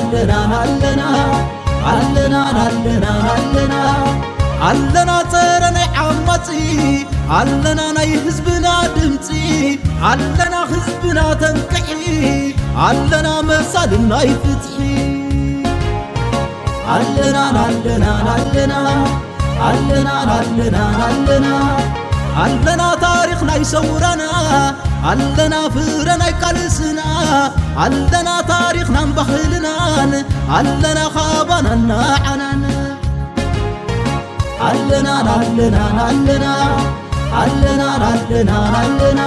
ኣለና ኣለና ኣለና ኣለና ኣለና ኣለና ጸረ ናይ ዓማጺ ኣለና ናይ ህዝብና ድምጺ ኣለና ህዝብና ተንቅሒ ኣለና መሳልን ናይ ፍትሒ ኣለና ኣለና ኣለና ኣለና ኣለና ኣለና ኣለና ታሪኽ ናይ ሰውራና ኣለና ፍረ ናይ ቃልስና ኣለና ታሪኽናን ባህልናን ኣለና ካባናን ንዓናን ኣለና ኣለና ኣለና ኣለና ኣለና ኣለና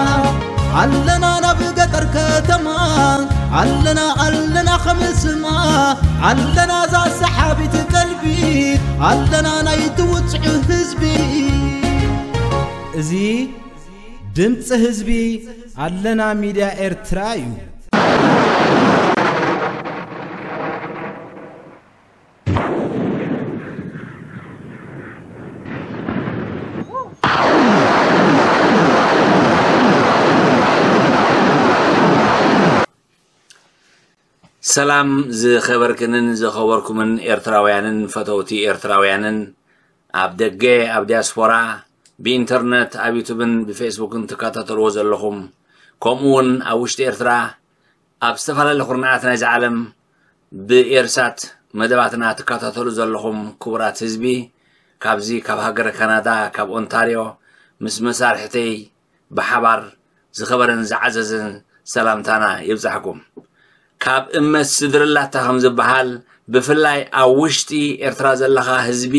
ኣለና ናብ ገጠር ከተማ ኣለና ኣለና ከም ስማ ኣለና እዛ ሰሓቢት ቀልቢ ኣለና ናይ ትውፅዑ ህዝቢ እዚ ድምፂ ህዝቢ ኣለና ሚድያ ኤርትራ እዩ። ሰላም ዝኸበርክንን ዝኸበርኩምን ኤርትራውያንን ፈተውቲ ኤርትራውያንን ኣብ ደገ ኣብ ዲያስፖራ ብኢንተርነት ኣብ ዩቱብን ብፌስቡክን ትከታተልዎ ዘለኹም ከምኡ እውን ኣብ ውሽጢ ኤርትራ ኣብ ዝተፈላለዩ ኩርናዓት ናይዚ ዓለም ብኤርሳት መደባትና ትከታተሉ ዘለኹም ክቡራት ህዝቢ ካብዚ ካብ ሃገረ ካናዳ ካብ ኦንታርዮ ምስ መሳርሕተይ ብሓባር ዝኸበረን ዝዓዘዘን ሰላምታና ይብጻሕኩም። ካብ እመት ስድርላታ ከም ዝበሃል ብፍላይ ኣብ ውሽጢ ኤርትራ ዘለኻ ህዝቢ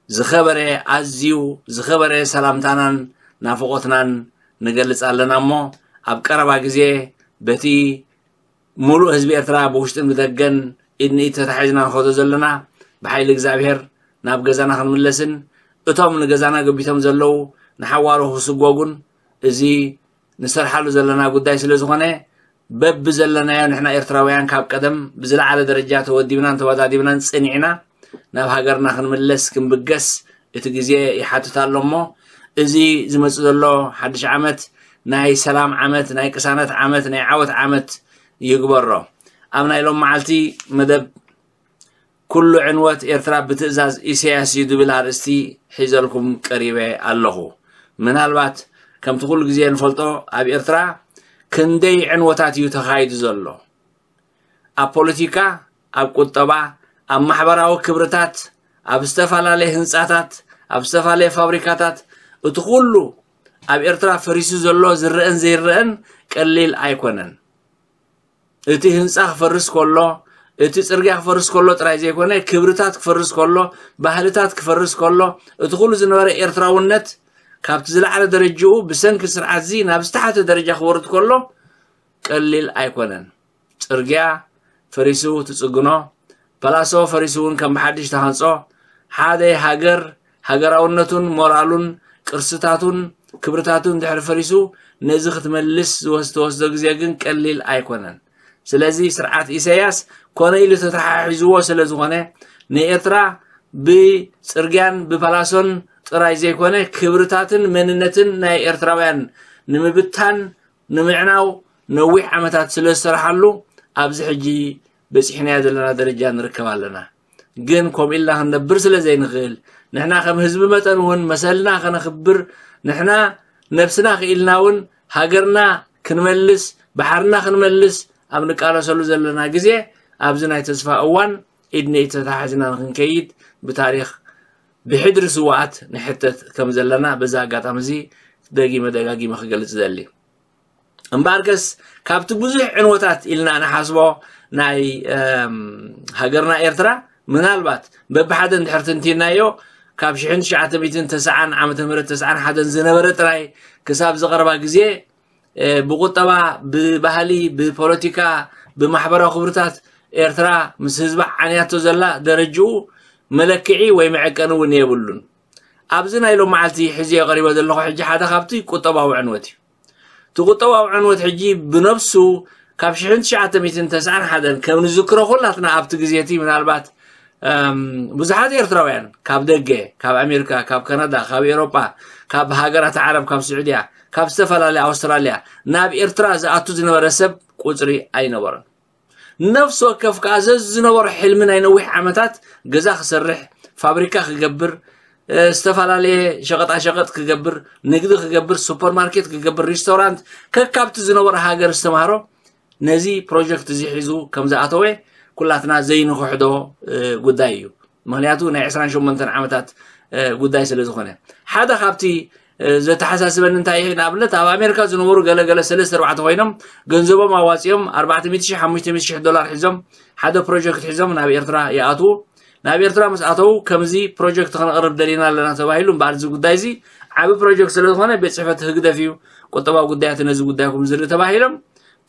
ዝኸበረ ኣዝዩ ዝኸበረ ሰላምታናን ናፍቖትናን ንገልጽ ኣለና እሞ ኣብ ቀረባ ግዜ በቲ ሙሉእ ህዝቢ ኤርትራ ብውሽጥን ብደገን ኢድ ንኢድ ተታሒዝና ንኸዶ ዘለና ብሓይሊ እግዚኣብሔር ናብ ገዛና ክንምለስን እቶም ንገዛና ገቢቶም ዘለዉ ንሓዋሩ ክስጎጉን እዚ ንሰርሓሉ ዘለና ጉዳይ ስለ ዝኾነ በብዘለናዮ ንሕና ኤርትራውያን ካብ ቀደም ብዝለዓለ ደረጃ ተወዲብናን ተወዳዲብናን ጽኒዕና ናብ ሃገርና ክንምለስ ክንብገስ እቲ ግዜ ይሓትት ኣሎ እሞ እዚ ዝመጽእ ዘሎ ሓድሽ ዓመት ናይ ሰላም ዓመት ናይ ቅሳነት ዓመት ናይ ዓወት ዓመት ይግበሮ ኣብ ናይ ሎም መዓልቲ መደብ ኩሉ ዕንወት ኤርትራ ብትእዛዝ ኢሳያስ እዩ ዝብል ኣርእስቲ ሒዘልኩም ቀሪበ ኣለኹ። ምናልባት ከምቲ ኩሉ ግዜ ንፈልጦ ኣብ ኤርትራ ክንደይ ዕንወታት እዩ ተኻይዱ ዘሎ። ኣብ ፖለቲካ፣ ኣብ ቁጠባ፣ ኣብ ማሕበራዊ ክብርታት፣ ኣብ ዝተፈላለየ ህንጻታት፣ ኣብ ዝተፈላለየ ፋብሪካታት እቲ ኩሉ ኣብ ኤርትራ ፈሪሱ ዘሎ ዝረአን ዘይረአን ቀሊል ኣይኮነን። እቲ ህንጻ ክፈርስ ከሎ፣ እቲ ጽርግያ ክፈርስ ከሎ ጥራይ ዘይኮነ፣ ክብርታት ክፈርስ ከሎ፣ ባህልታት ክፈርስ ከሎ፣ እቲ ኩሉ ዝነበረ ኤርትራውነት ካብቲ ዝለዓለ ደረጅኡ ብሰንኪ ስርዓትዚ ናብ ዝተሓተ ደረጃ ክወርድ ከሎ ቀሊል ኣይኮነን። ጽርግያ ፈሪሱ ትጽግኖ፣ ፓላሶ ፈሪሱ እውን ከም ብሓድሽ ተሃንጾ፣ ሓደ ሃገር ሃገራውነቱን ሞራሉን ቅርስታቱን ክብርታቱን ድሕሪ ፈሪሱ ነዚ ክትመልስ ዝወስ- ትወስዶ ግዜ ግን ቀሊል ኣይኮነን። ስለዚ ስርዓት ኢሳያስ ኮነ ኢሉ ተተሓሒዝዎ ስለ ዝኾነ ንኤርትራ ብጽርግያን ብፓላሶን ጥራይ ዘይኮነ ክብርታትን መንነትን ናይ ኤርትራውያን ንምብታን ንምዕናው ነዊሕ ዓመታት ስለ ዝሰርሓሉ ኣብዚ ሕጂ በጺሕናዮ ዘለና ደረጃ ንርከብ ኣለና። ግን ከምኡ ኢልና ክንነብር ስለ ዘይንኽእል ንሕና ከም ህዝቢ መጠን እውን መሰልና ከነኽብር ንሕና ነብስና ክኢልና እውን ሃገርና ክንመልስ ባሕርና ክንመልስ ኣብ ንቃለሰሉ ዘለና ግዜ ኣብዚ ናይ ተስፋ እዋን ኢድ ንኢድ ተታሓዝና ንክንከይድ ብታሪኽ ብሕድሪ ስዋኣት ንሕተት ከም ዘለና በዚ ኣጋጣሚ እዚ ደጊመ ደጋጊመ ክገልጽ ዘሊ። እምበኣርከስ ካብቲ ብዙሕ ዕንወታት ኢልና ንሓስቦ ናይ ሃገርና ኤርትራ ምናልባት በብሓደ እንድሕር ትንቲናዮ ካብ ሽሕን ትሽዓተ ሚእትን ተስዓን ዓመተ ምህረት ተስዓን ሓደን ዝነበረ ጥራይ ክሳብ ዝቐረባ ግዜ ብቁጠባ ብባህሊ ብፖለቲካ ብማሕበራዊ ክብርታት ኤርትራ ምስ ህዝባ ዓንያቶ ዘላ ደረጅኡ መለክዒ ወይ መዐቀኒ እውን የብሉን። ኣብዚ ናይ ሎም መዓልቲ ሕዚ የቐሪቦ ዘለኹ ሕጂ ሓደ ካብቲ ቁጠባዊ ዕንወት እዩ። እቲ ቁጠባዊ ዕንወት ሕጂ ብነብሱ ካብ ሽሕን ትሽዓተ ሚእትን ተስዓን ሓደን ከም ንዝክሮ ኩላትና ኣብቲ ግዜ እቲ ምናልባት ብዙሓት ኤርትራውያን ካብ ደገ ካብ ኣሜሪካ ካብ ካናዳ ካብ ኤሮጳ ካብ ሃገራት ዓረብ ካብ ስዑድያ ካብ ዝተፈላለየ ኣውስትራልያ ናብ ኤርትራ ዝኣቱ ዝነበረ ሰብ ቁፅሪ ኣይነበሮን። ነፍሲ ወከፍ ከዓ ዘዝነበሮ ሕልሚ ናይ ነዊሕ ዓመታት ገዛ ክሰርሕ፣ ፋብሪካ ክገብር፣ እ፣ ዝተፈላለየ ሸቐጣሸቐጥ ክገብር፣ ንግዲ ክገብር፣ ሱፐርማርኬት ክገብር፣ ሪስቶራንት፣ ከካብቲ ዝነበሮ ሃገር ዝተማህሮ ነዚ ፕሮጀክት እዚ ሒዙ ከም ዝኣተወ ኩላትና ዘይንክሕዶ፣ እ፣ ጉዳይ እዩ። ምክንያቱ ናይ ዕስራን ሸሞንተን ዓመታት፣ እ፣ ጉዳይ ስለ ዝኾነ፣ ሓደ ካብቲ፣ እ፣ ዘተሓሳስበኒ እንታይ እዩ፣ ንኣብነት ኣብ ኣሜሪካ ዝነበሩ ገለገለ ሰለስተ ኣርባዕተ ኮይኖም ገንዘቦም ኣዋፂኦም ኣርባዕተ ሚእቲ ሺሕ ሓሙሽተ ሚእቲ ሺሕ ዶላር ሒዞም ሓደ ፕሮጀክት ሒዞም ናብ ኤርትራ ይኣትዉ። ናብ ኤርትራ ምስ ኣተዉ ከምዚ ፕሮጀክት ክነቕርብ ደሊና ኣለና ተባሂሉ። እምበኣር እዚ ጉዳይ እዚ ዓቢ ፕሮጀክት ስለ ዝኾነ ቤት ጽሕፈት ህግደፍ እዩ ቁጠባዊ ጉዳያት ነዚ ጉዳይኩም ዝርኢ ተባሂሎም።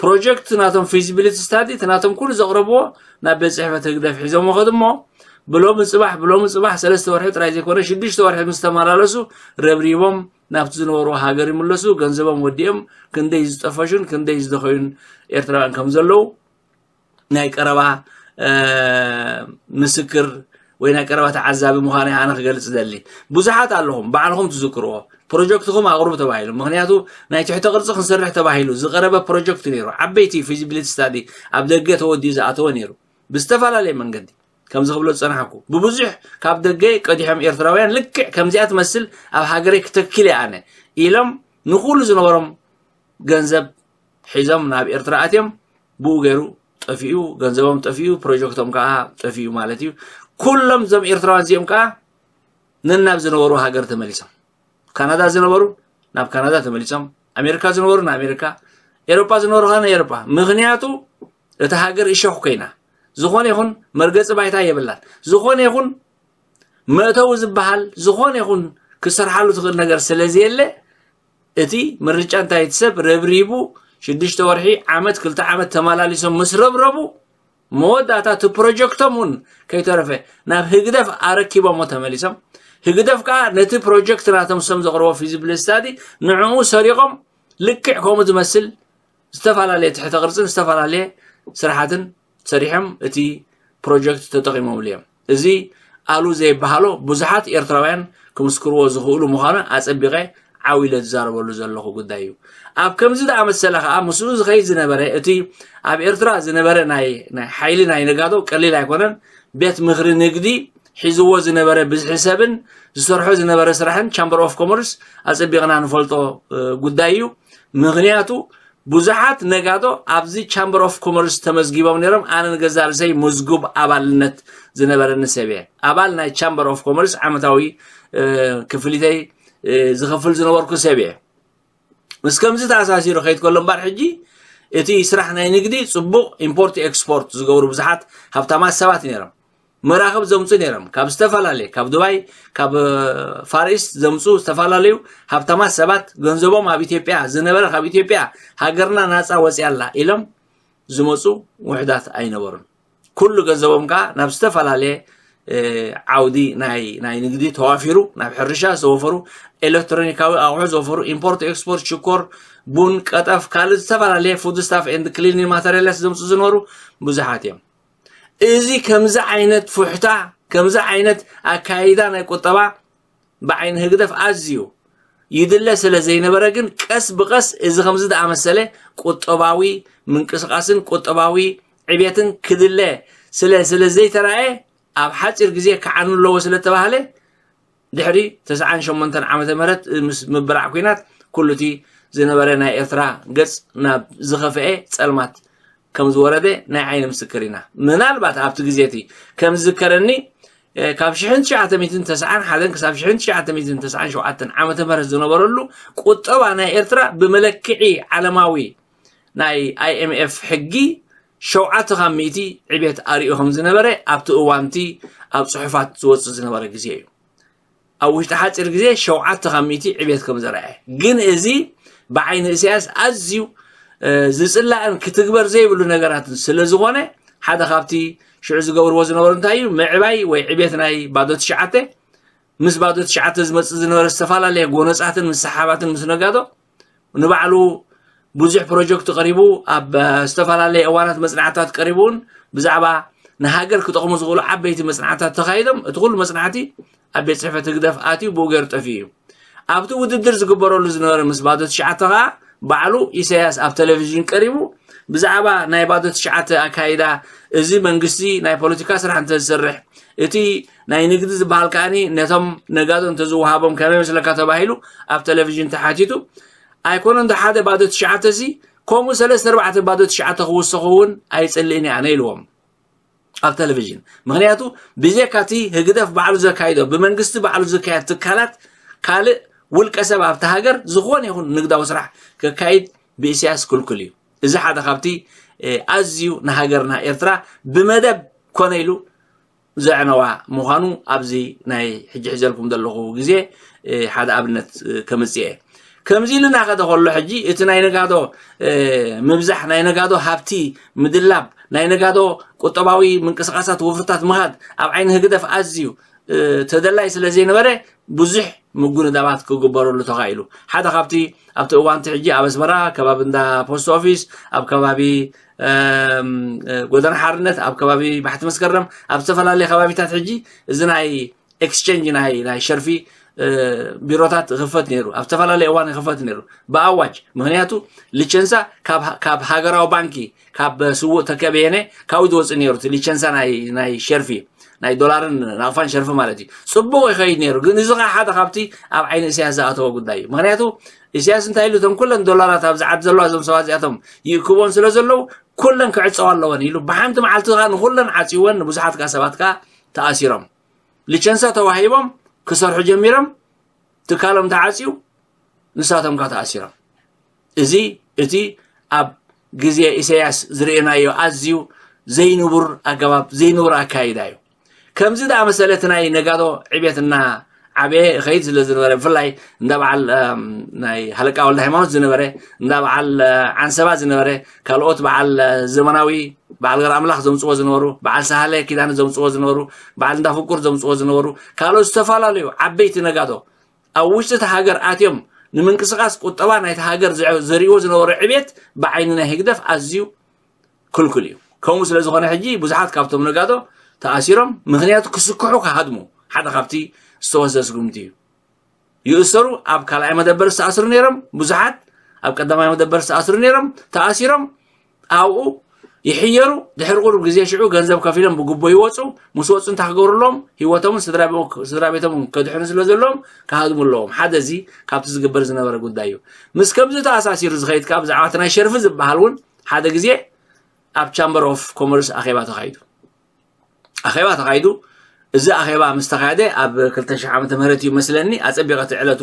ፕሮጀክት ናቶም ፊዚቢሊቲ ስታዲ እቲ ናቶም ኩሉ ዘቕረብዎ ናብ ቤት ጽሕፈት ህግደፍ ሒዞም ከዱ እሞ ብሎሚ ጽባሕ፣ ብሎሚ ጽባሕ ሰለስተ ወርሒ ጥራይ ዘይኮነ ሽዱሽተ ወርሒ ምስ ተመላለሱ ረብሪቦም ናብቲ ዝነበሩ ሃገር ይምለሱ። ገንዘቦም ወዲኦም ክንደይ ዝጠፈሹን ክንደይ ዝደኸዩን ኤርትራውያን ከም ዘለዉ ናይ ቀረባ፣ እ፣ ምስክር ወይ ናይ ቀረባ ተዓዛቢ ምዃነይ ኣነ ክገልጽ ደሊ። ብዙሓት ኣለኹም፣ ባዕልኹም ትዝክርዎ። ፕሮጀክትኹም ኣቕርቡ ተባሂሉ። ምኽንያቱ ናይ ትሕተ ቅርጺ ክንሰርሕ ተባሂሉ ዝቐረበ ፕሮጀክት ነይሩ። ዓበይቲ ፊዚቢሊቲ ስታዲ ኣብ ደገ ተወዲኡ ዝኣተወ ነይሩ። ብዝተፈላለየ መንገዲ፣ ከምዚ ክብሎ ዝጸናሕኩ፣ ብብዙሕ ካብ ደገ ቀዲሖም ኤርትራውያን ልክዕ ከምዚኣ ትመስል ኣብ ሃገረይ ክተክል እየ ኣነ ኢሎም ንኹሉ ዝነበሮም ገንዘብ ሒዞም ናብ ኤርትራ ኣትዮም፣ ብኡ ገይሩ ጠፊኡ፣ ገንዘቦም ጠፊኡ፣ ፕሮጀክቶም ከዓ ጠፊኡ ማለት እዩ። ኩሎም እዞም ኤርትራውያን እዚኦም ከዓ ነናብ ዝነበሩ ሃገር ተመሊሶም። ካናዳ ዝነበሩ ናብ ካናዳ ተመሊሶም፣ ኣሜሪካ ዝነበሩ ንኣሜሪካ፣ ኤሮጳ ዝነበሩ ከዓ ንኤሮጳ። ምኽንያቱ እታ ሃገር እሾኽ ኮይና፣ ዝኾነ ይኹን መርገጺ ባይታ የብላን። ዝኾነ ይኹን መእተዊ ዝበሃል፣ ዝኾነ ይኹን ክሰርሓሉ ትኽእል ነገር ስለ ዘየለ፣ እቲ ምርጫ እንታይ፣ እቲ ሰብ ረብሪቡ ሽዱሽተ ወርሒ፣ ዓመት፣ ክልተ ዓመት ተመላሊሶም ምስ ረብረቡ፣ መወዳእታ እቲ ፕሮጀክቶም እውን ከይተረፈ ናብ ህግደፍ ኣረኪቦሞ ተመሊሶም። ህግደፍ ከዓ ነቲ ፕሮጀክት ናቶም ሰም ዘቕርቦ ፊዚቢሊቲ ስታዲ ንዕኡ ሰሪቖም፣ ልክዕ ከምኡ ዝመስል ዝተፈላለየ ትሕተ ቅርጽን ዝተፈላለየ ስራሓትን ሰሪሖም እቲ ፕሮጀክት ተጠቒሞምሉ እዮም። እዚ ኣሉ ዘይበሃሎ ብዙሓት ኤርትራውያን ክምስክርዎ ዝኽእሉ ምዃኑ ኣጸቢቐ ዓው ኢለ ዝዛረበሉ ዘለኹ ጉዳይ እዩ። ኣብ ከምዚ ዝኣመሰለ ከኣ ምስኡ ዝኸይድ ዝነበረ እቲ ኣብ ኤርትራ ዝነበረ ናይ፣ ናይ ሓይሊ ናይ ነጋዶ ቀሊል ኣይኮነን። ቤት ምኽሪ ንግዲ ሒዝዎ ዝነበረ ብዝሒ ሰብን ዝሰርሖ ዝነበረ ስራሕን ቻምበር ኦፍ ኮመርስ ኣጸቢቕና ንፈልጦ፣ እ፣ ጉዳይ እዩ። ምኽንያቱ ብዙሓት ነጋዶ ኣብዚ ቻምበር ኦፍ ኮመርስ ተመዝጊቦም ነይሮም። ኣነ ንገዛእ ርእሰይ ምዝጉብ ኣባልነት ዝነበረኒ ሰብ እየ። ኣባል ናይ ቻምበር ኦፍ ኮመርስ ዓመታዊ፣ እ፣ ክፍሊተይ፣ እ፣ ዝኸፍል ዝነበርኩ ሰብ እየ። ምስ ከምዚ ተኣሳሲሩ ከይድ ከሎ እምበር ሕጂ እቲ ስራሕ ናይ ንግዲ ጽቡቕ ኢምፖርት ኤክስፖርት ዝገብሩ ብዙሓት ሃብታማት ሰባት ነይሮም። መራኽብ ዘምጹ ነይሮም። ካብ ዝተፈላለየ፣ ካብ ዱባይ፣ ካብ፣ እ፣ ፋር ኢስት ዘምጹ ዝተፈላለዩ ሃብታማት ሰባት ገንዘቦም ኣብ ኢትዮጵያ ዝነበረ፣ ካብ ኢትዮጵያ ሃገርና ናጻ ወጽያ ኣላ ኢሎም ዝመጹ ውሑዳት ኣይነበሩን። ኩሉ ገንዘቦም ከኣ ናብ ዝተፈላለየ፣ እ፣ ዓውዲ ናይ፣ ናይ ንግዲ ተዋፊሩ፣ ናብ ሕርሻ ዝተወፈሩ፣ ኤሌክትሮኒካዊ ኣቑሑ ዝወፈሩ፣ ኢምፖርት ኤክስፖርት፣ ሽኮር፣ ቡን፣ ቀጠፍ፣ ካልእ ዝተፈላለየ ፉድ ስታፍ ኤንድ ክሊኒንግ ማተሪያላት ዘምጹ ዝነበሩ ብዙሓት እዮም። እዚ ከምዚ ዓይነት ፉሕታ፣ ከምዚ ዓይነት ኣካይዳ ናይ ቁጠባ ብዓይኒ ህግደፍ ኣዝዩ ይድለ ስለ ዘይነበረ ግን ቀስ ብቐስ እዚ ከምዚ ዝኣመሰለ ቁጠባዊ ምንቅስቓስን ቁጠባዊ ዕቤትን ክድለ ስለ፣ ስለ ዘይተራእየ ኣብ ሓጺር ግዜ ክዓኑ ኣለዎ ስለ ተባህለ ድሕሪ ተስዓን ሸሞንተን ዓመተ ምህረት ምስ ምብራዕ ኲናት ኩሉ እቲ ዝነበረ ናይ ኤርትራ ገጽ ናብ ዝኸፍኤ ጸልማት ከም ዝወረደ ናይ ዓይኒ ምስክር ኢና። ምናልባት ኣብቲ ግዜ እቲ ከም ዝዝከረኒ፣ እ፣ ካብ ሽሕን ትሽዓተ ሚእትን ተስዓን ሓደን ክሳብ ሽሕን ትሽዓተ ሚእትን ተስዓን ሸውዓተን ዓመተ ምህረት ዝነበረሉ ቁጠባ ናይ ኤርትራ ብመለክዒ ዓለማዊ ናይ ኣይ ኤም ኤፍ ሕጊ ሸውዓተ ካብ ሚእቲ ዕቤት ኣርእዩ ከም ዝነበረ ኣብቲ እዋንቲ ኣብ ጽሑፋት ዝወጽእ ዝነበረ ግዜ እዩ። ኣብ ውሽጢ ሓጺር ግዜ ሸውዓተ ካብ ሚእቲ ዕቤት ከም ዘርኣየ። ግን እዚ ብዓይኒ ኢሳያስ ኣዝዩ፣ እ፣ ዝጽላእን ክትግበር ዘይብሉ ነገራትን ስለ ዝኾነ፣ ሓደ ካብቲ ሽዑ ዝገብርዎ ዝነበሩ እንታይ እዩ? ምዕባይ ወይ ዕቤት ናይ ባዶ ትሽዓተ፣ ምስ ባዶ ትሽዓተ ዝመጽእ ዝነበረ ዝተፈላለየ ጎነጻትን ምስሓባትን ምስ ነጋዶ፣ ንባዕሉ ብዙሕ ፕሮጀክት ቀሪቡ፣ ኣብ፣ እ፣ ዝተፈላለየ እዋናት መጽናዕትታት ቀሪቡ እውን ብዛዕባ ንሃገር ክጠቕሙ ዝኽእሉ ዓበይቲ መጽናዕትታት ተኻይዶም፣ እቲ ኩሉ መጽናዕቲ ኣብ ቤት ጽሕፈት ህግደፍ ኣትዩ ብኡ ገይሩ ጠፊኡ እዩ። ኣብቲ ውድድር ዝግበረሉ ዝነበረ ምስ ባዶ ትሽዓተ ኸኣ ባዕሉ ኢሳያስ ኣብ ቴሌቪዥን ቀሪቡ ብዛዕባ ናይ ባዶ ትሽዓተ ኣካይዳ፣ እዚ መንግስቲ ናይ ፖለቲካ ስራሕ እንተዝሰርሕ፣ እቲ ናይ ንግዲ ዝበሃል ከኣኒ ነቶም ነጋዶ እንተዝወሃቦም ከመይ መስለካ ተባሂሉ ኣብ ቴሌቪዥን ተሓቲቱ፣ ኣይኮነን ዶ ሓደ ባዶ ትሽዓተ ሲ፣ ከምኡ ሰለስተ ኣርባዕተ ባዶ ትሽዓተ ክውሰኹ እውን ኣይጽልእን እየ ኣነ ኢልዎም ኣብ ቴሌቪዥን። ምክንያቱ ብዘካ እቲ ህግደፍ ባዕሉ ዘካይዶ፣ ብመንግስቲ ባዕሉ ዝካየድ ትካላት፣ ካልእ ውልቀ ሰብ ኣብቲ ሃገር ዝኾነ ይኹን ንግዳዊ ስራሕ ከካይድ ብኢሳያስ ክልኩል እዩ። እዚ ሓደ ካብቲ ኣዝዩ ንሃገርና ኤርትራ ብመደብ ኮነ ኢሉ ዘዕነዋ ምዃኑ ኣብዚ ናይ ሕጂ ሒዘልኩም ዘለኹ ግዜ ሓደ ኣብነት ከምጽእ እየ። ከምዚ ኢልና ከደ ከሎ ሕጂ እቲ ናይ ነጋዶ ምብዛሕ፣ ናይ ነጋዶ ሃብቲ ምድላብ፣ ናይ ነጋዶ ቁጠባዊ ምንቅስቃሳት ወፍርታት ምኻድ ኣብ ዓይኒ ህግደፍ ኣዝዩ ተደላይ ስለ ዘይነበረ ብዙሕ ምጉንዳባት ክግበረሉ ተኻኢሉ። ሓደ ካብቲ ኣብቲ እዋንቲ ሕጂ ኣብ ኣስመራ ከባቢ እንዳ ፖስት ኦፊስ፣ ኣብ ከባቢ ጎደና ሓርነት፣ ኣብ ከባቢ ባሕቲ መስከረም፣ ኣብ ዝተፈላለየ ከባቢታት ሕጂ እዚ ናይ ኤክስቸንጅ ናይ ናይ ሸርፊ ቢሮታት ይኽፈት ነይሩ። ኣብ ዝተፈላለየ እዋን ይኽፈት ነይሩ ብኣዋጅ። ምክንያቱ ሊቸንሳ ካብ ሃገራዊ ባንኪ ካብ ስዉእ ተከበየነ ካብኡ ዝወፅእ ነይሩ። እቲ ሊቸንሳ ናይ ናይ ሸርፊ ናይ ዶላርን ናቕፋን ሸርፊ ማለት እዩ። ፅቡቕ ይኸይድ ነይሩ። ግን እዚ ከዓ ሓደ ካብቲ ኣብ ዓይኒ እስያስ ዝኣተወ ጉዳይ እዩ። ምክንያቱ እስያስ እንታይ ኢሉ፣ እቶም ኩለን ዶላራት ኣብዚ ዓዲ ዘለዋ እዞም ሰባት እዚኣቶም ይእክቦን ስለ ዘለዉ ኩለን ክዕፀዋ ኣለወን ኢሉ ብሓንቲ መዓልቲ ከዓ ንኩለን ዓፅወን። ንብዙሓት ከዓ ሰባት ከዓ ተኣሲሮም፣ ሊቸንሳ ተዋሂቦም ክሰርሑ ጀሚሮም፣ ትካሎም ተዓፅዩ፣ ንሳቶም ከዓ ተኣሲሮም። እዚ እቲ ኣብ ግዜ ኢሳያስ ዝርእናዮ ኣዝዩ ዘይንቡር ኣገባብ፣ ዘይንቡር ኣካይዳ እዩ። ከምዚ ዝኣመሰለ እቲ ናይ ነጋዶ ዕቤት እና ዓበየ ይኸይድ ስለ ዝነበረ፣ ብፍላይ እንዳ በዓል ናይ ሃለቃ ወልደ ሃይማኖት ዝነበረ፣ እንዳ በዓል ዓንሰባ ዝነበረ፣ ካልኦት በዓል ዘመናዊ፣ በዓል ገር ኣምላኽ ዘምፅዎ ዝነበሩ፣ በዓል ሳህለ ኪዳነ ዘምፅዎ ዝነበሩ፣ በዓል እንዳ ፍቁር ዘምፅዎ ዝነበሩ፣ ካልኦት ዝተፈላለዩ ዓበይቲ ነጋዶ ኣብ ውሽጢ እቲ ሃገር ኣትዮም ንምንቅስቃስ ቁጠባ ናይቲ ሃገር ዘርእዎ ዝነበሩ ዕቤት ብዓይኒ ናይ ህግደፍ ኣዝዩ ክልኩል እዩ። ከምኡ ስለ ዝኾነ ሕጂ ብዙሓት ካብቶም ነጋዶ ተኣሲሮም። ምክንያቱ ክስክሑ ክሃድሙ ሓደ ካብቲ ዝተወሰደ ስጉምቲ እዩ። ይእሰሩ፣ ኣብ ካልኣይ መደበር ዝተኣስሩ ነይሮም ብዙሓት፣ ኣብ ቀዳማይ መደበር ዝተኣስሩ ነይሮም፣ ተኣሲሮም። ኣብኡ ይሕየሩ። ድሕሪ ቁሩብ ግዜ ሽዑ ገንዘብ ከፊሎም ብጉቦ ይወፁ። ምስ ወፁ እንታይ ክገብሩ ኣለዎም? ህይወቶምን ስድራ ቤቶምን ከድሕኑ ስለ ዘለዎም ክሃድሙ ኣለዎም። ሓደ እዚ ካብቲ ዝግበር ዝነበረ ጉዳይ እዩ። ምስ ከምዚ ተኣሳሲሩ ዝኸይድ ከዓ ብዛዕባ እቲ ናይ ሸርፊ ዝበሃል እውን ሓደ ግዜ ኣብ ቻምበር ኦፍ ኮመርስ ኣኼባ ተኻይዱ። ኣኼባ ተኻይዱ። እዚ ኣኼባ ምስ ተኻየደ ኣብ ክልተ ሽሕ ዓመተ ምህረት እዩ መስለኒ። ኣጸቢቐ እቲ ዕለቱ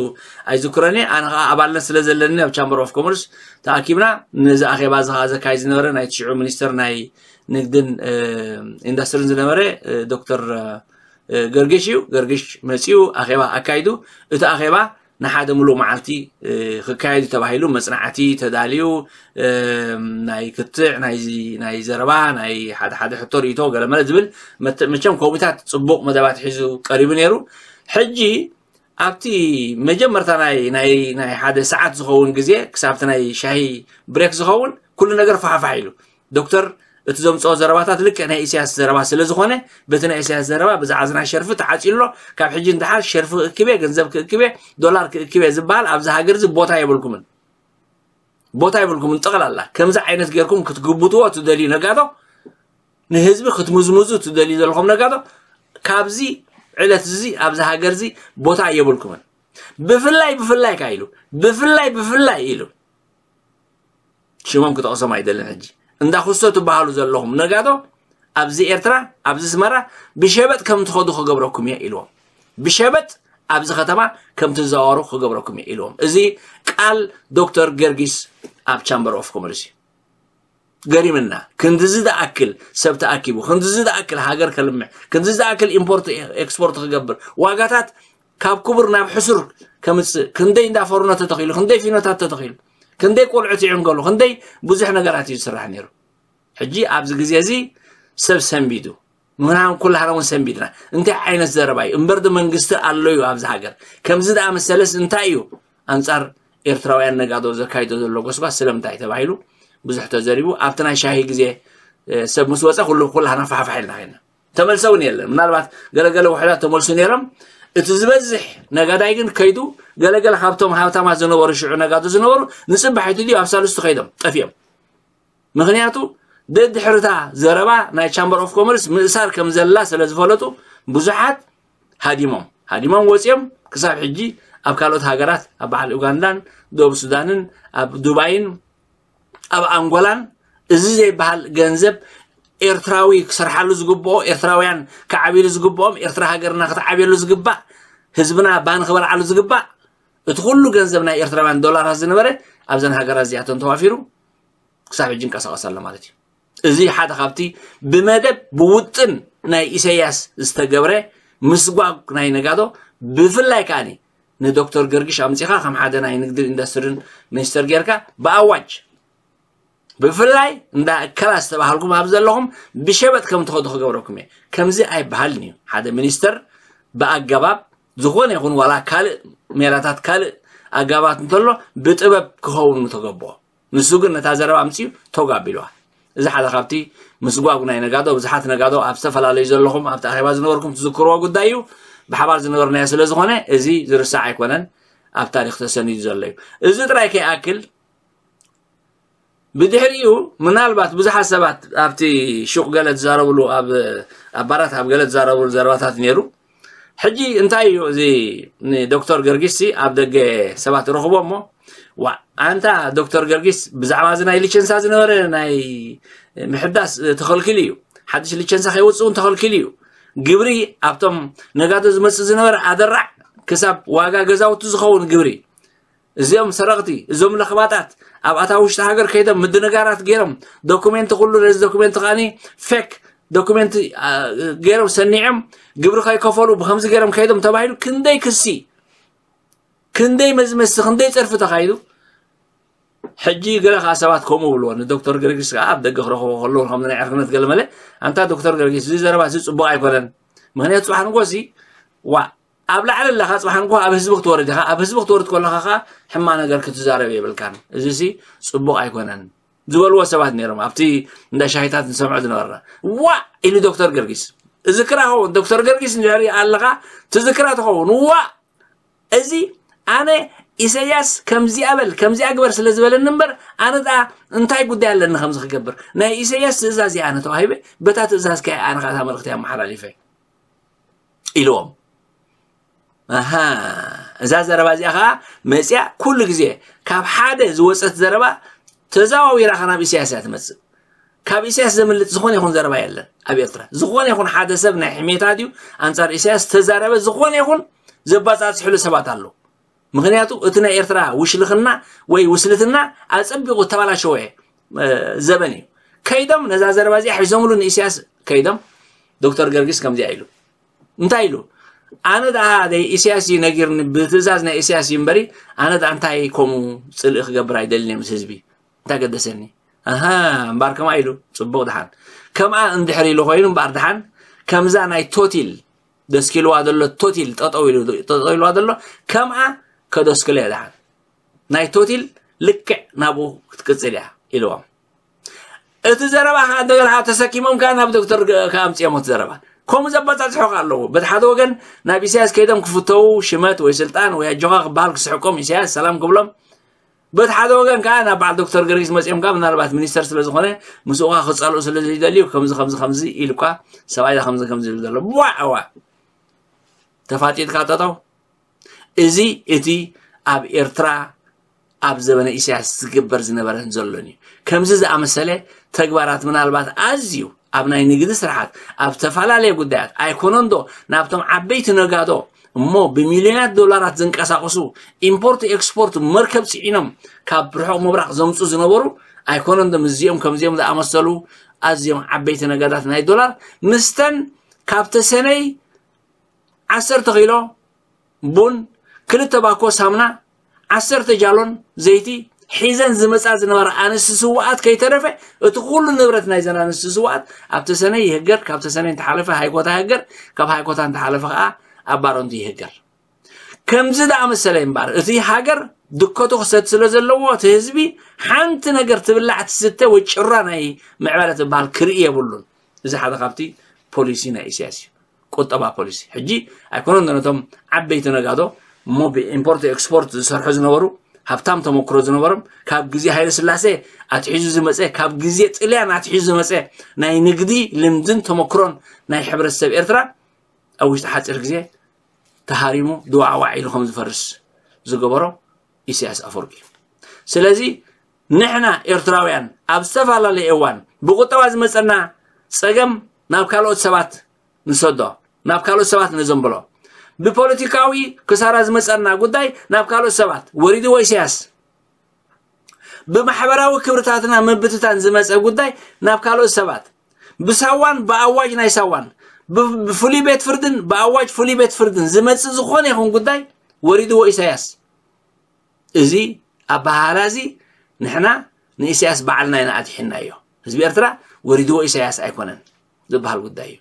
ኣይዝክሮን እየ። ኣነ ኸዓ ኣባልነት ስለ ዘለኒ ኣብ ቻምበር ኦፍ ኮመርስ ተኣኪብና። ነዚ ኣኼባ እዚ ኸዓ ዘካይድ ዝነበረ ናይ ትሽዑ ሚኒስተር ናይ ንግድን ኢንዱስትሪን ዝነበረ ዶክተር ገርግሽ እዩ። ገርግሽ መጺኡ ኣኼባ ኣካይዱ። እቲ ኣኼባ ንሓደ ሙሉእ መዓልቲ ክካየድ እዩ ተባሂሉ መጽናዕቲ ተዳልዩ፣ ናይ ክትዕ ናይ ዘረባ ናይ ሓደ ሓደ ሕቶ ርእይቶ ገለመለ ዝብል መቸም ኮሚታት ጽቡቕ መደባት ሒዙ ቀሪቡ ነይሩ። ሕጂ ኣብቲ መጀመርታ ናይ ናይ ናይ ሓደ ሰዓት ዝኸውን ግዜ ክሳብቲ ናይ ሻሂ ብሬክ ዝኸውን ኩሉ ነገር ፋሕፋሕ ኢሉ። ዶክተር እቲ ዘምፅኦ ዘረባታት ልክዕ ናይ ኢሳያስ ዘረባ ስለ ዝኾነ በቲ ናይ ኢሳያስ ዘረባ ብዛዕባ ዝና ሸርፊ ተዓፂሎ። ካብ ሕጂ ንደሓር ሸርፊ ክእክብ እየ፣ ገንዘብ ክእክብ እየ፣ ዶላር ክእክብ እየ ዝበሃል ኣብዚ ሃገር እዚ ቦታ የብልኩምን። ቦታ የብልኩምን። ጠቕላላ ከምዚ ዓይነት ጌርኩም ክትግብትዎ ትደልዩ ነጋዶ፣ ንህዝቢ ክትምዝምዙ ትደልዩ ዘለኹም ነጋዶ ካብዚ ዕለት እዚ ኣብዚ ሃገር እዚ ቦታ የብልኩምን። ብፍላይ ብፍላይ ካ ኢሉ ብፍላይ ብፍላይ ኢሉ ሽሞም ክጠቕሶም ኣይደልን። ሕጂ እንዳ ኩስቶ ትበሃሉ ዘለኹም ነጋዶ ኣብዚ ኤርትራ ኣብዚ ኣስመራ ብሸበጥ ከም ትኸዱ ክገብረኩም እየ ኢልዎም። ብሸበጥ ኣብዚ ከተማ ከም ትዘዋወሩ ክገብረኩም እየ ኢልዎም። እዚ ቃል ዶክተር ገርጊስ ኣብ ቻምበር ኦፍ ኮመርስ እዩ። ገሪምና። ክንድዚ ዝኣክል ሰብ ተኣኪቡ፣ ክንድዚ ዝኣክል ሃገር ከልምዕ፣ ክንድዚ ዝኣክል ኢምፖርት ኤክስፖርት ክገብር፣ ዋጋታት ካብ ክቡር ናብ ሕሱር ከምፅእ፣ ክንደይ እንዳ ፎርኖ ተተኺሉ፣ ክንደይ ፊኖታት ተተኺሉ፣ ክንደይ ቆልዑት ይዕንገሉ፣ ክንደይ ብዙሕ ነገራት እዩ ዝስራሕ ነይሩ። ሕጂ ኣብዚ ግዜ እዚ ሰብ ሰንቢዱ፣ ምኽንያቱ ኩላህና እውን ሰንቢድና። እንታይ ዓይነት ዘረባ እዩ? እምበር ዶ መንግስቲ ኣሎ እዩ ኣብዚ ሃገር? ከምዚ ዝኣመሰለስ እንታይ እዩ ኣንጻር ኤርትራውያን ነጋዶ ዘካይዶ ዘሎ ጎስጓስ ስለምንታይ ተባሂሉ ብዙሕ ተዘሪቡ። ኣብቲ ናይ ሻሂ ግዜ ሰብ ምስ ወፀ ኩሉ ኩላህና ፋሕፋሕ ኢልና ኸይና። ተመልሰ እውን የለን። ምናልባት ገለገለ ውሕዳት ተመልሱ ነይሮም። እቲ ዝበዝሕ ነጋዳይ ግን ከይዱ ገለገለ ካብቶም ሃብታማት ዝነበሩ ሽዑ ነጋዶ ዝነበሩ ንፅባሒቱ ድዩ ኣብ ሳልስቱ ከይዶም ጠፊኦም። ምኽንያቱ ደድሕርታ ዘረባ ናይ ቻምበር ኦፍ ኮመርስ ምእሳር ከም ዘላ ስለ ዝፈለጡ ብዙሓት ሃዲሞም ሃዲሞም ወፂኦም ክሳብ ሕጂ ኣብ ካልኦት ሃገራት ኣብ በዓል ኡጋንዳን ደቡብ ሱዳንን ኣብ ዱባይን ኣብ ኣንጎላን እዚ ዘይበሃል ገንዘብ ኤርትራዊ ክሰርሓሉ ዝግብኦ ኤርትራውያን ክዓብሉ ዝግብኦም ኤርትራ ሃገርና ክትዓብየሉ ዝግባእ ህዝብና ባን ክበልዓሉ ዝግባእ እቲ ኩሉ ገንዘብ ናይ ኤርትራውያን ዶላራት ዝነበረ ኣብዘን ሃገራት እዚኣተን ተዋፊሩ ክሳብ ሕጂ ይንቀሳቐስ ኣሎ ማለት እዩ። እዚ ሓደ ካብቲ ብመደብ ብውጥን ናይ ኢሳያስ ዝተገብረ ምስጓግ ናይ ነጋዶ ብፍላይ ከዓኒ ንዶክተር ገርጊሽ ኣምፂኻ ከም ሓደ ናይ ንግድን ኢንዱስትሪን ሚኒስተር ጌርካ ብኣዋጅ ብፍላይ እንዳ እከላ ዝተባሃልኩም ኣብ ዘለኹም ብሸበጥ ከም ትኸዱ ክገብረኩም እየ። ከምዚ ኣይበሃልን እዩ። ሓደ ሚኒስተር ብኣገባብ ዝኾነ ይኹን ዋላ ካልእ ሜላታት ካልእ ኣገባባት እንተሎ ብጥበብ ክኸውን ምተገብኦ። ንሱ ግን ነታ ዘረባ ኣምፅኡ ቶግ ኣቢልዋ። እዚ ሓደ ካብቲ ምስጓጉ ናይ ነጋዶ ብዙሓት ነጋዶ ኣብ ዝተፈላለዩ ዘለኹም ኣብቲ ኣኼባ ዝነበርኩም ትዝክርዎ ጉዳይ እዩ። ብሓባር ዝነበርናዮ ስለ ዝኾነ እዚ ዝርሳዕ ኣይኮነን፣ ኣብ ታሪክ ተሰኒዱ ዘሎ እዩ። እዚ ጥራይ ከይኣክል ብድሕሪኡ ምናልባት ብዙሓት ሰባት ኣብቲ ሹቕ ገለ ትዛረብሉ ኣብ ኣብ ባራት ኣብ ገለ ትዛረብሉ ዘረባታት ነይሩ። ሕጂ እንታይ እዩ እዚ ንዶክተር ገርጊስ ሲ ኣብ ደገ ሰባት ረኽቦ እሞ ዋ ኣንታ ዶክተር ገርጊስ ብዛዕባ እዚ ናይ ሊቸንሳ ዝነበረ ናይ ምሕዳስ ተኸልኪሉ እዩ። ሓድሽ ሊቸንሳ ከይወፅእ እውን ተኸልኪሉ እዩ። ግብሪ ኣብቶም ነጋዶ ዝመፅእ ዝነበረ ኣደራዕ ክሳብ ዋጋ ገዛውቲ ዝኸውን ግብሪ እዚኦም ሰረቕቲ እዞም ለኽባጣት ኣብ ኣታ ውሽጢ ሃገር ከይዶም ምድንጋራት ገይሮም ዶኩሜንት ኩሉ ነዚ ዶኩሜንት ከዓኒ ፌክ ዶኩሜንት ገይሮም ሰኒዖም ግብሪ ከይከፈሉ ብከምዚ ገይሮም ከይዶም ተባሂሉ ክንደይ ክሲ ክንደይ መዝመሲ ክንደይ ፀርፊ ተኻይዱ። ሕጂ ገለ ከዓ ሰባት ከምኡ ብልዎ ንዶክተር ገርጊስ ከዓ ኣብ ደገ ክረኽቦ ከለዉ ከም ናይ ዕርክነት ገለ መለ ኣንታ ዶክተር ገርጊስ እዚ ዘረባ እዚ ፅቡቅ ኣይኮነን። ምክንያቱ ፅባሕ ንጎሲ ዋ ኣብ ላዕሊ ኣለኻ ፅባሕ ንጎ ኣብ ህዝቢ ክትወርድ ኢኻ ኣብ ህዝቢ ክትወርድ ከለኻ ከዓ ሕማ ነገር ክትዛረብ የብልካን። እዚ ሲ ፅቡቅ ኣይኮነን ዝበልዎ ሰባት ነይሮም ኣብቲ እንዳ ሻሂታት ንሰምዖ ዝነበርና። ዋ ኢሉ ዶክተር ገርጊስ እዚ ክራ ኸውን ዶክተር ገርጊስ እንድሕሪ ኣለኻ ትዝክራ ትኸውን ዋ እዚ ኣነ ኢሰያስ ከምዚኣ በል ከምዚኣ ግበር ስለ ዝበለኒ እምበር ኣነ ደኣ እንታይ ጉዳይ ኣለኒ ከምዚ ክገብር ናይ ኢሰያስ ትእዛዝ እያ ኣነ ተዋሂበ በታ ትእዛዝ ከ ኣነ ከዓ እታ መልእኽቲ ኣመሓላሊፈ ኢልዎም ኣሃ እዛ ዘረባ እዚኣ ከዓ መፅያ ኩሉ ግዜ ካብ ሓደ ዝወፀት ዘረባ ተዘዋዊራ ከ ናብ ኢሰያስ እያ ትመፅእ ካብ ኢሳያስ ዘምልጥ ዝኾነ ይኹን ዘረባ የለን ኣብ ኤርትራ ዝኾነ ይኹን ሓደ ሰብ ናይ ሕሜታ ድዩ ኣንጻር ኢሳያስ ዝተዛረበ ዝኾነ ይኹን ዘባጻጽሕሉ ሰባት ኣለዉ ምኽንያቱ እቲ ናይ ኤርትራ ውሽልኽና ወይ ውስልትና ኣጸቢቑ ተባላሸወ ዘበን እዩ ከይዶም ነዛ ዘረባ እዚኣ ሒዞምሉ ንኢሳያስ ከይዶም ዶክተር ገርጊስ ከምዚኣ ኢሉ እንታይ ኢሉ ኣነ ደኣ ኢሳያስ እዩ ነጊርኒ ብትእዛዝ ናይ ኢሳያስ እዩ እምበሪ ኣነ ደኣ እንታይ ከምኡ ጽልኢ ክገብር ኣይደልን ምስ ህዝቢ እንታይ ገደሰኒ ኣሃ እምባር ከምኣ ኢሉ ጽቡቕ ደሓን ከምኣ እንድሕር ኢሉ ኮይኑ እምባር ደሓን ከምዛ ናይ ቶቲል ደስኪልዋ ዘሎ ቶቲል ጠጠው ኢሉ ጠጠው ኢልዋ ዘሎ ከምኣ ከደስክሎ እየ ደሓን ናይ ቶቲል ልክዕ ናብኡ ክትቅጽል እያ ኢልዎም እቲ ዘረባ ከዓ እንደገና ተሰኪሞም ከዓ ናብ ዶክተር ከኣምፅኦም እቲ ዘረባ ከምኡ ዘበፃፅሑ ከዓ ኣለዎ በቲ ሓደ ወገን ናብ ኢሳያስ ከይዶም ክፍተው ሽመት ወይ ስልጣን ወይ ኣጆኻ ክበሃል ክስሕቆም ኢሳያስ ሰላም ክብሎም በቲ ሓደ ወገን ከዓ ናብ በዓል ዶክተር ገርጊስ መፂኦም ከዓ ምናልባት ሚኒስተር ስለ ዝኾነ ምስኡ ከዓ ክፀልኡ ስለ ዘይደልዩ ከምዚ ከምዚ ከምዚ ኢሉ እኳ ሰብኣይ ከምዚ ከምዚ ኢሉ ዘሎ ዋዕዋ ተፋጢጥካ ጠጠው እዚ እቲ ኣብ ኤርትራ ኣብ ዘበነ ኢሳያስ ዝግበር ዝነበረን ዘሎን እዩ። ከምዚ ዝኣመሰለ ተግባራት ምናልባት ኣዝዩ ኣብ ናይ ንግዲ ስርሓት ኣብ ዝተፈላለየ ጉዳያት ኣይኮነንዶ ናብቶም ዓበይቲ ነጋዶ እሞ ብሚልዮናት ዶላራት ዝንቀሳቀሱ ኢምፖርት ኤክስፖርት መርከብ ፅዒኖም ካብ ርሑቕ ምብራቕ ዘምፁ ዝነበሩ ኣይኮነንዶ ምስዚኦም ከምዚኦም ዝኣመሰሉ ኣዝዮም ዓበይቲ ነጋዳት ናይ ዶላር ምስተን ካብ ተሰነይ ዓሰርተ ኪሎ ቡን፣ ክልተ ባኮ ሳምና፣ ዓሰርተ ጃሎን ዘይቲ ሒዘን ዝመጻ ዝነበራ ኣንስቲ ስውኣት ከይተረፈ እቲ ኩሉ ንብረት ናይዘን ኣንስቲ ስውኣት ኣብ ተሰነይ ይህገር፣ ካብ ተሰነይ እንተሓለፈ ሃይኮታ ይህገር፣ ካብ ሃይኮታ እንተሓለፈ ከዓ ኣብ ባረንቱ ይህገር። ከምዚ ደኣ መሰለ እምበር እቲ ሃገር ድከቶ ክሰቲ ስለ ዘለዎ እቲ ህዝቢ ሓንቲ ነገር ትብላዕ ትስተ ወይ ጭራ ናይ ምዕባለ ትበሃል ክርኢ የብሉን። እዚ ሓደ ካብቲ ፖሊሲ ናይ ኢሳያስ እዩ። ቁጠባ ፖሊሲ ሕጂ ኣይኮነን ነቶም ዓበይቲ ነጋዶ እሞ ብኢምፖርት ኤክስፖርት ዝሰርሑ ዝነበሩ ሃብታም ተመክሮ ዝነበሮም፣ ካብ ግዜ ሃይለ ስላሴ ኣትሒዙ ዝመፀ፣ ካብ ግዜ ጥልያን ኣትሒዙ ዝመፀ ናይ ንግዲ ልምድን ተመክሮን ናይ ሕብረተሰብ ኤርትራ ኣብ ውሽጢ ሓፂር ግዜ ተሃሪሙ ድዋዕዋዕ ኢሉ ከም ዝፈርስ ዝገበሮ ኢሳያስ ኣፈወርቂ እዩ። ስለዚ ንሕና ኤርትራውያን ኣብ ዝተፈላለየ እዋን ብቁጠባ ዝመፀና ፀገም ናብ ካልኦት ሰባት ንሰዶ፣ ናብ ካልኦት ሰባት ነዘንብሎ። ብፖለቲካዊ ክሳራ ዝመፀና ጉዳይ ናብ ካልኦት ሰባት ወሪድዎ ኢሳያስ። ብማሕበራዊ ክብርታትና ምብትታን ዝመፀ ጉዳይ ናብ ካልኦት ሰባት ብሳዋን ብኣዋጅ ናይ ሳዋን ብ- ብፍሉይ ቤት ፍርድን ብኣዋጅ ፍሉይ ቤት ፍርድን ዝመፅእ ዝኾነ ይኹን ጉዳይ ወሪድዎ ኢሳያስ። እዚ ኣበሃህላ እዚ ንሕና ንኢሳያስ ባዕልና ኢና ኣትሒናዮ። ህዝቢ ኤርትራ ወሪድዎ ኢሳያስ ኣይኮነን ዝበሃል ጉዳይ እዩ።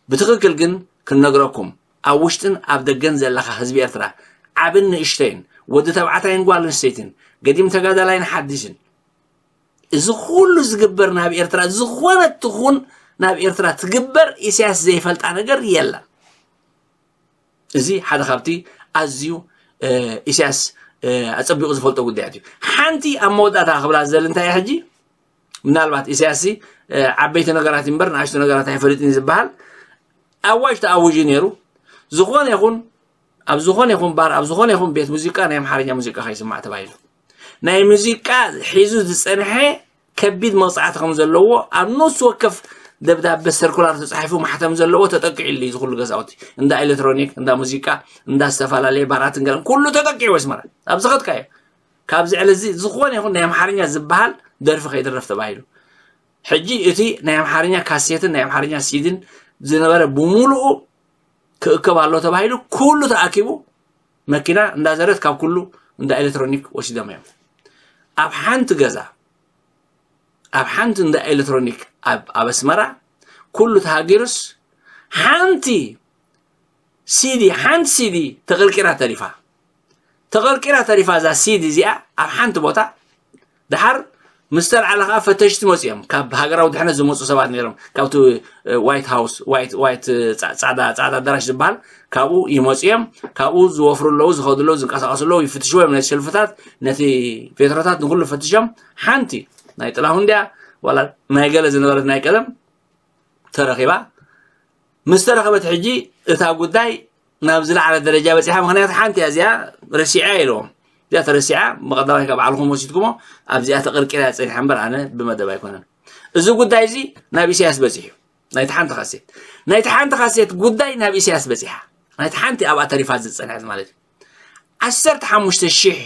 ብትኽክል ግን ክንነግረኩም፣ ኣብ ውሽጥን ኣብ ደገን ዘለኻ ህዝቢ ኤርትራ፣ ዓብን ንእሽተይን፣ ወዲ ተባዕታይን ጓል ኣንስተይትን፣ ገዲም ተጋዳላይን ሓዲስን፣ እዚ ኩሉ ዝግበር ናብ ኤርትራ፣ ዝኾነት ትኹን ናብ ኤርትራ ትግበር ኢሳያስ ዘይፈልጣ ነገር የለን። እዚ ሓደ ካብቲ ኣዝዩ እ፣ ኢሳያስ እ፣ ኣጸቢቑ ዝፈልጦ ጉዳያት እዩ። ሓንቲ ኣብ መወዳእታ ክብላ ዝደሊ እንታይ እያ ሕጂ? ምናልባት ኢሳያስ እ፣ ዓበይቲ ነገራት እምበር ንኣሽቱ ነገራት ኣይፈልጥን እዩ ዝበሃል ኣዋጅ ተኣዊጁ ነይሩ። ዝኾነ ይኹን ኣብ ዝኾነ ይኹን ባር፣ ኣብ ዝኾነ ይኹን ቤት ሙዚቃ ናይ ኣምሓርኛ ሙዚቃ ከይስማዕ ተባሂሉ። ናይ ሙዚቃ ሒዙ ዝጸንሐ ከቢድ መቕጻዕቲ ከም ዘለዎ ኣብ ነፍሲ ወከፍ ደብዳበ ሰርኩላር ተጻሒፉ ማሕተም ዘለዎ ተጠቂዑ ኣሎ። እዚ ኩሉ ገዛውቲ እንዳ ኤሌክትሮኒክ፣ እንዳ ሙዚቃ፣ እንዳ ዝተፈላለየ ባራትን ገለን ኩሉ ተጠቂዑ ኣስመራ። ኣብ ዝኸድካዮ ካብዚ ዕለት እዚ ዝኾነ ይኹን ናይ ኣምሓርኛ ዝበሃል ደርፊ ከይድረፍ ተባሂሉ። ሕጂ እቲ ናይ ኣምሓርኛ ካሴትን ናይ ኣምሓርኛ ሲድን ዝነበረ ብምሉኡ ክእከብ ኣሎ ተባሂሉ ኩሉ ተኣኪቡ መኪና እንዳዘረት ካብ ኩሉ እንዳ ኤሌክትሮኒክ ወሲዶም እዮም። ኣብ ሓንቲ ገዛ ኣብ ሓንቲ እንዳ ኤሌክትሮኒክ ኣብ ኣብ ኣስመራ ኩሉ ተሃጊሩስ ሓንቲ ሲዲ ሓንቲ ሲዲ ተቐርቂራ ተሪፋ። ተቐርቂራ ተሪፋ እዛ ሲዲ እዚኣ ኣብ ሓንቲ ቦታ። ድሓር ምስ ተልዓለ ከዓ ፈተሽቲ መፂኦም፣ ካብ ሃገራዊ ድሕነት ዝመፁ ሰባት ነይሮም፣ ካብቲ ዋይት ሃውስ ዋይት ዋይት ፃ- ፃዕዳ ፃዕዳ ኣዳራሽ ዝበሃል ካብኡ ይመፁ እዮም። ካብኡ ዝወፍሩ ኣለዉ፣ ዝኸዱ ኣለዉ፣ ዝንቀሳቀሱ ኣለዉ፣ ይፍትሽዎ እዮም ነቲ ሸልፍታት፣ ነቲ ቬትሮታት ንኩሉ ፈትሾም። ሓንቲ ናይ ጥላሁን ድያ ዋላ ናይ ገለ ዝነበረት ናይ ቀደም ተረኺባ። ምስ ተረኸበት ሕጂ እታ ጉዳይ ናብ ዝለዓለ ደረጃ በፂሓ። ምክንያቱ ሓንቲ እያ እዚኣ፣ ረሲዐ ኢልዎም። እዚኣ ተረሲዓ፣ ብቐዳማይ ካብ ባዕልኹም ወሲድኩሞ ኣብዚኣ ተቐርቂራ እያ ፀኒሓ እምበር ኣነ ብመደብ ኣይኮነን። እዚ ጉዳይ እዚ ናብ ኢሳያስ በፂሑ እዩ። ናይቲ ሓንቲ ካሴት ናይቲ ሓንቲ ካሴት ጉዳይ ናብ ኢሳያስ በፂሓ። ናይቲ ሓንቲ ኣብኣ ተሪፋ ዝፀንሐት ማለት እዩ። ዓሰርተ ሓሙሽተ ሺሕ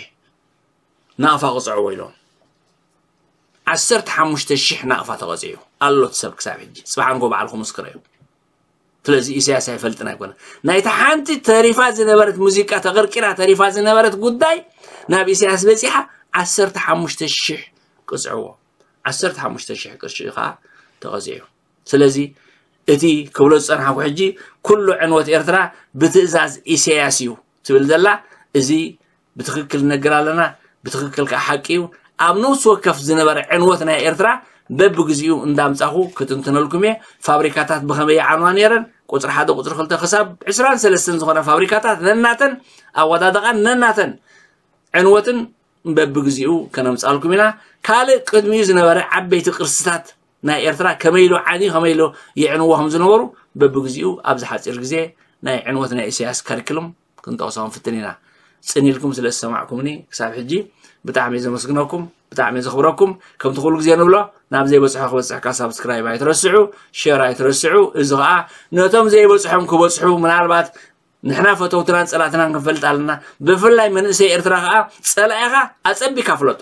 ናቕፋ ቅፅዕዎ ኢሎም። ዓሰርተ ሓሙሽተ ሺሕ ናቕፋ ተቐፂዑ ኣሎ እቲ ሰብ ክሳብ ሕጂ። ፅባሕ ንጎ ባዕልኹም ምስክረዩ። ስለዚ ኢሳያስ ኣይፈልጥን ኣይኮነ። ናይቲ ሓንቲ ተሪፋ ዝነበረት ሙዚቃ ተቐርቂራ ተሪፋ ዝነበረት ጉዳይ ናብ ኢሳያስ በፂሓ። ዓሰርተ ሓሙሽተ ሺሕ ቅፅዕዎ። ዓሰርተ ሓሙሽተ ሺሕ ቅርሺ ከዓ ተቐፂዑ። ስለዚ እቲ ክብሎ ዝፀናሕኩ ሕጂ ኩሉ ዕንወት ኤርትራ ብትእዛዝ ኢሳያስ እዩ ትብል ዘላ፣ እዚ ብትኽክል ንነግር ኣለና። ብትኽክል ከዓ ሓቂ እዩ። ኣብ ነፍሲ ወከፍ ዝነበረ ዕንወት ናይ ኤርትራ በብግዚኡ እንዳምጻኹ ክትንትነልኩም እየ። ፋብሪካታት ብኸመይ ይዓንዋ ነይረን፣ ቁፅሪ ሓደ ቁፅሪ ክልተ ክሳብ ዕስራን ሰለስተን ዝኾነ ፋብሪካታት ነናተን ኣወዳድቓን ነናተን ዕንወትን በብግዚኡ ከነምጻልኩም ኢና። ካልእ ቅድሚኡ ዝነበረ ዓበይቲ ቅርስታት ናይ ኤርትራ ከመይ ኢሉ ዓንዩ ከመይ ኢሉ ይዕንዎ ከም ዝነበሩ በብግዚኡ ኣብዚ ሓፂር ግዜ ናይ ዕንወት ናይ ኢሳያስ ካሪክሉም ክንጠቕሶ ክንፍትን ኢና። ፅን ኢልኩም ስለ ዝሰማዕኩምኒ ክሳብ ሕጂ ብጣዕሚ እየ ዘመስግነኩም፣ ብጣዕሚ እየ ዘኽብረኩም። ከምቲ ኩሉ ግዜ ንብሎ ናብ ዘይበፅሖ ክበፅሕካ ሳብስክራይብ ኣይትረስዑ፣ ሸር ኣይትረስዑ። እዚ ከዓ ነቶም ዘይበፅሖም ክበፅሑ ምናልባት ንሕና ፈተውትናን ጸላእትናን ክንፈልጥ ኣለና። ብፍላይ መንእሰይ ኤርትራ ከኣ ጸላኢኻ ኣጸቢካ ፍለጦ።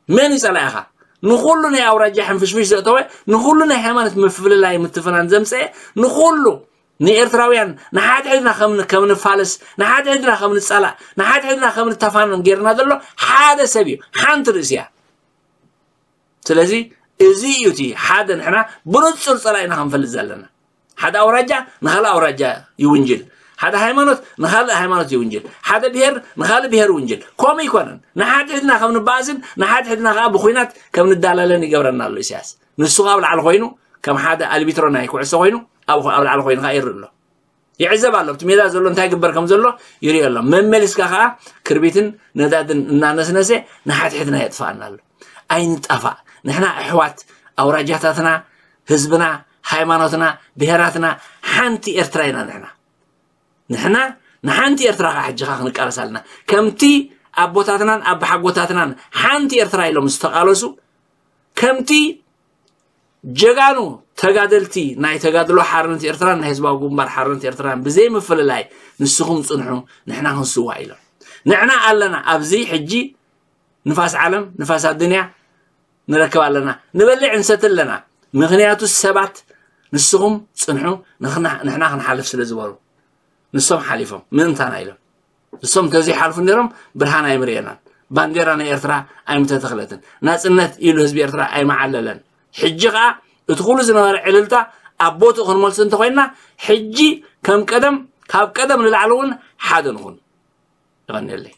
መን እዩ ጸላኢኻ? ንኹሉ ናይ ኣውራጃ ሕንፍሽፍሽ ዘእተወ፣ ንኹሉ ናይ ሃይማኖት ምፍልላይ ምትፍናን ዘምጽአ፣ ንኹሉ ንኤርትራውያን ንሓድሕድና ከም ከም ንፋለስ፣ ንሓድሕድና ከም ንጸላእ፣ ንሓድሕድና ከም ንተፋነን ጌርና ዘሎ ሓደ ሰብ እዩ። ሓንቲ ርእሲ እያ። ስለዚ እዚ እዩ እቲ ሓደ ንሕና ብንጹር ጸላኢና ክንፈልጥ ዘለና። ሓደ ኣውራጃ ንኻልእ ኣውራጃ ይውንጅል፣ ሓደ ሃይማኖት ንኻልእ ሃይማኖት ይውንጅል፣ ሓደ ብሄር ንኻልእ ብሄር ይውንጅል። ከምኡ ኣይኮነን። ንሓድሕድና ከም ንበኣስን ንሓድሕድና ከኣ ብኹናት ከም ንዳላለን ይገብረና ኣሎ ኢሳያስ። ንሱ ከኣ ኣብ ላዕሊ ኮይኑ ከም ሓደ ኣልቢትሮ ናይ ኩዕሶ ኮይኑ ኣብ ኣብ ላዕሊ ኮይኑ ከኣ ይርኢ ኣሎ። ይዕዘብ ኣሎ። ኣብቲ ሜዳ ዘሎ እንታይ ግበር ከም ዘሎ ይርኢ ኣሎ። መመሊስካ ከዓ ክርቢትን ነዳድን እናነስነሰ ንሓድሕድና የጥፋኣና ኣሎ። ኣይንጣፋእ። ንሕና ኣሕዋት ኣውራጃታትና፣ ህዝብና፣ ሃይማኖትና፣ ብሄራትና ሓንቲ ኤርትራ ኢና ንሕና። ንሕና ንሓንቲ ኤርትራ ከዓ ሕጂ ከዓ ክንቃለስ ኣለና። ከምቲ ኣቦታትናን ኣቦሓጎታትናን ሓንቲ ኤርትራ ኢሎም ዝተቃለሱ፣ ከምቲ ጀጋኑ ተጋደልቲ ናይ ተጋድሎ ሓርነት ኤርትራን ናይ ህዝባዊ ግንባር ሓርነት ኤርትራን ብዘይምፍልላይ ንስኹም ጽንሑ፣ ንሕና ክንስዋእ ኢሎም። ንሕና ኣለና ኣብዚ ሕጂ ንፋስ ዓለም፣ ንፋስ ኣዱንያ ንረክብ ኣለና። ንበልዕ ንሰቲ ኣለና። ምኽንያቱ ሰባት ንስኹም ጽንሑ፣ ንኽና-፣ ንሕና ክንሓልፍ ስለ ዝበሉ። ንሶም ሓሊፎም ምእንታና ኢሎም። ንሶም እንተዘይሓልፉ ነይሮም ብርሃን ኣይምርኤናን። ባንዴራ ናይ ኤርትራ ኣይምተተኽለትን። ናጽነት ኢሉ ህዝቢ ኤርትራ ኣይመዓለለን። ሕጂ ኸኣ እቲ ኩሉ ዝነበረ ዕልልታ ኣብ ቦትኡ ክንመልሶ እንተኾይንና፣ ሕጂ ከም ቀደም፣ ካብ ቀደም ንላዕሊ እውን ሓደ ንኹን። ይቐንየለይ።